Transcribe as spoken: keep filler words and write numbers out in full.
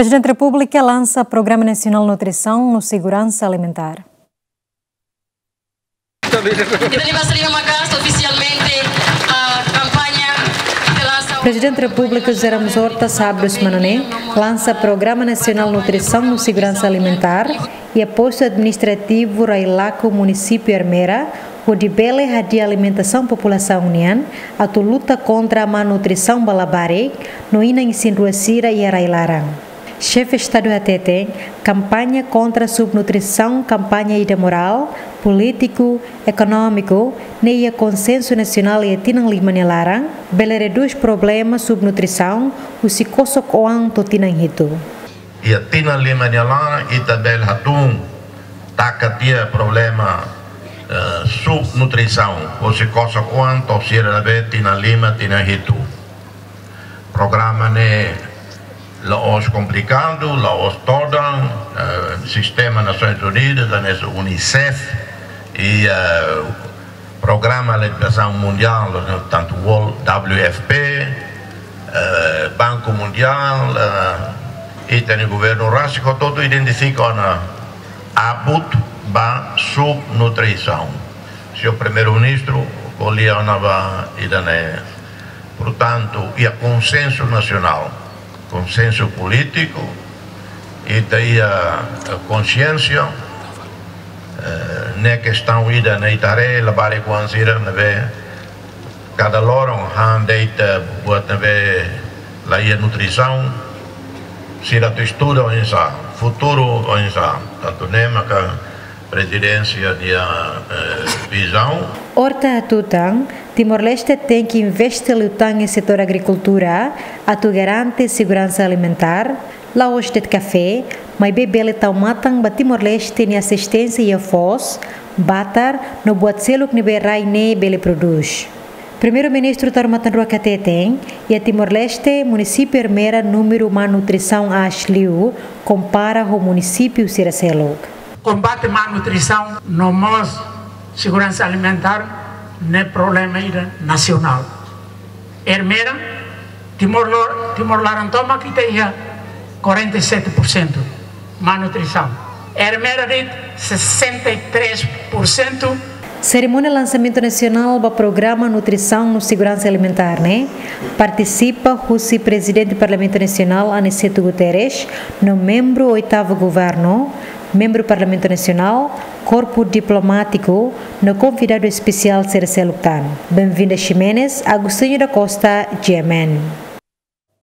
Prezidente Repúblika lansa Programa Nasionál Nutrisaun no Seguransa Alimentár. Ita-nia basa liman maka'as ofisialmente, ah, kampaña ita lansa. Prezidente Repúblika José Ramos Horta, sábadu semana ne'e, lansa Programa Nasionál Nutrisaun no Seguransa Alimentár iha postu administrativu Railaco, munisípiu Ermera, hodi bele hadi'a alimentasaun populasaun nian, atu luta kontra malnutrisaun ba labarik no inan isin-rua sira iha rai-laran. Xefe Estadu hateten, kampaña kontra subnutrisaun kampaña ida morál, polítiku, ekonómiku, ne'e iha konsensu nasionál iha tinan lima nia laran, bele redús problema subnutrisaun husi kosok-oan to'o tinan hitu. Iha tinan lima nia laran, ita bele hatún taka tiha problema, eh, subnutrisaun, husi kosok-oan to'o sira ne'ebé tinan lima, tinan hitu. Programa ne'e la'ós komplikadu, la'ós todan, eh, sistema Nasoins Unidas, hanesan UNICEF, i, eh, Programa Alimentasaun Mundiál, tantu World W F P, eh, Banku Mundiál, eh, ita-nia governu rasik hotu-hotu identifika ona abut ba subnutrisaun. Señór Primeiru-Ministru ko'alia ona ba ida-ne'e. Portantu, iha konsensu nasionál, konsensu polítiku, ita iha, eh, konxiénsia, eh, ne'e kestaun ida ne'e ita haree labarik-oan sira ne'ebé kada loron han de'it, eh, buat ne'ebé la iha nutrisaun, sira atu estuda oinsá, futuru oinsá, tantu ne'e maka prezidénsia nia, eh, vizaun. Horta hatutan, Timor-Leste tenke investe liután iha setór agrikultura, atu garante seguransa alimentár, la'ós de'it kafé, maibé bele tau matan ba Timor-Leste nia ezisténsia iha foos, batar, no buat seluk ne'ebé rai ne'e bele prodús. Primeiru-Ministru Taur Matan Ruak hateten, iha Timor-Leste, munisípiu Ermera númeru malnutrisaun aas liu, kompara ho munisípiu sira seluk. Kombate malnutrisaun no mós seguransa alimentár ne'e problema ida nasionál. Ermera, Timor lo-, Timor laran tomak ita iha quarenta e sete por cento malnutrisaun. Ermera de'it sessenta e três por cento. Serimónia lansamentu nasionál ba Programa Nutrisaun no Seguransa Alimentár ne'e partisipa husi Prezidente Parlamentu Nasionál Aniceto Guterres, no membru oitavu Governu, membru Parlamentu Nasionál, korpu diplomátiku, no konvidadu espesiál sira seluk tan. Benvinda Ximenes, Agostinho da Costa, G M N.